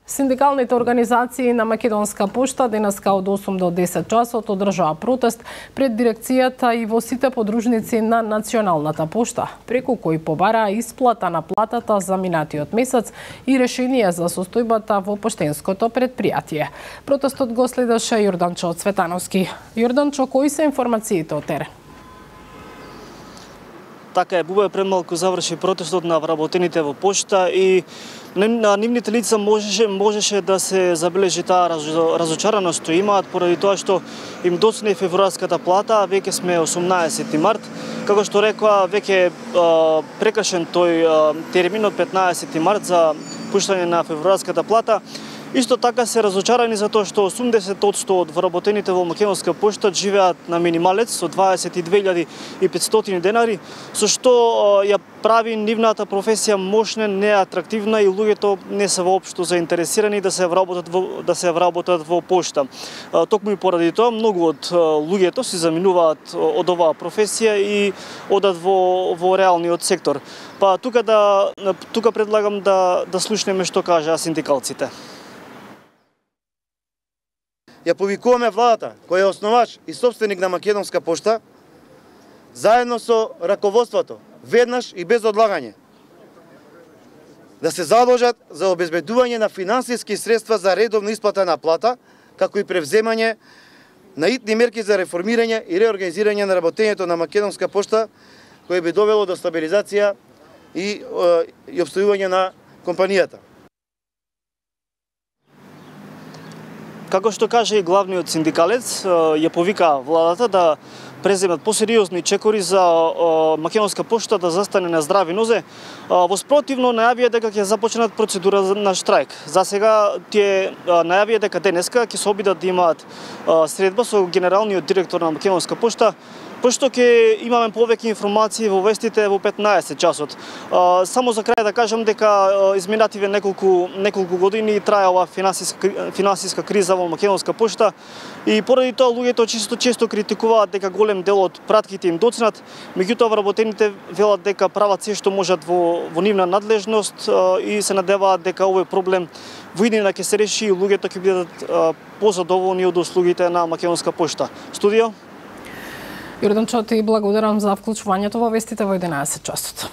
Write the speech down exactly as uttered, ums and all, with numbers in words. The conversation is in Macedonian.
Синдикалните организации на Македонска пошта денеска од осум до десет часот одржаа протест пред дирекцијата и во сите подружници на Националната пошта, преку кои побараа исплата на платата за минатиот месец и решение за состојбата во поштенското предпријатие. Протестот го следеше Јорданчо Цветановски. Јорданчо, кои се информациите од терен? Така е, Бубе пред малку заврши протестот на вработените во пошта и на нивните лица можеше можеше да се забележи таа разочараност што имаат поради тоа што им доцне февруарската плата, а веќе сме осумнаесети март. Како што рекоа, веќе прекашен тој термин од петнаесети март за пуштање на февруарската плата. Исто така се разочарани за тоа што осумдесет одсто од вработените во Македонска пошта живеат на минималец со дваесет и две илјади и петстотини денари, со што ја прави нивната професија мошна, неатрактивна и луѓето не се воопшто заинтересирани да се вработат во, да се вработат во пошта. Токму и поради тоа многу од луѓето се заминуваат од оваа професија и одат во во реалниот сектор. Па тука да тука предлагам да да слушнеме што кажаа синдикалците. Ја повикуваме владата, која е основач и собственик на Македонска пошта, заедно со раководството, веднаш и без одлагање, да се задолжат за обезбедување на финансиски средства за редовна исплата на плата, како и превземање на итни мерки за реформирање и реорганизирање на работењето на Македонска пошта, кој би довело до стабилизација и, и обстојување на компанијата. Како што каже и главниот синдикалец, ја повика владата да преземат посериозни чекори за Македонска пошта да застане на здрави нозе. Во спротивно најавија дека ќе започнат процедура на штрајк. За сега тие најавија дека денеска ќе се обидат да имаат средба со генералниот директор на Македонска пошта, пошто ќе имаме повеќе информации во вестите во петнаесет часот. Само за крај да кажам дека изминативе неколку неколку години трае ова финансиска финансиска криза во Македонска пошта и поради тоа луѓето често често критикуваат дека голем дел од пратките им доцнат, меѓутоа вработените велат дека прават се што можат во во нивна надлежност и се надеваат дека овој проблем во иднина ќе се реши и луѓето ќе бидат позадоволни од услугите на Македонска пошта. Студио. Јорданчо, ти благодарам за вклучувањето во вестите во единаесет часот.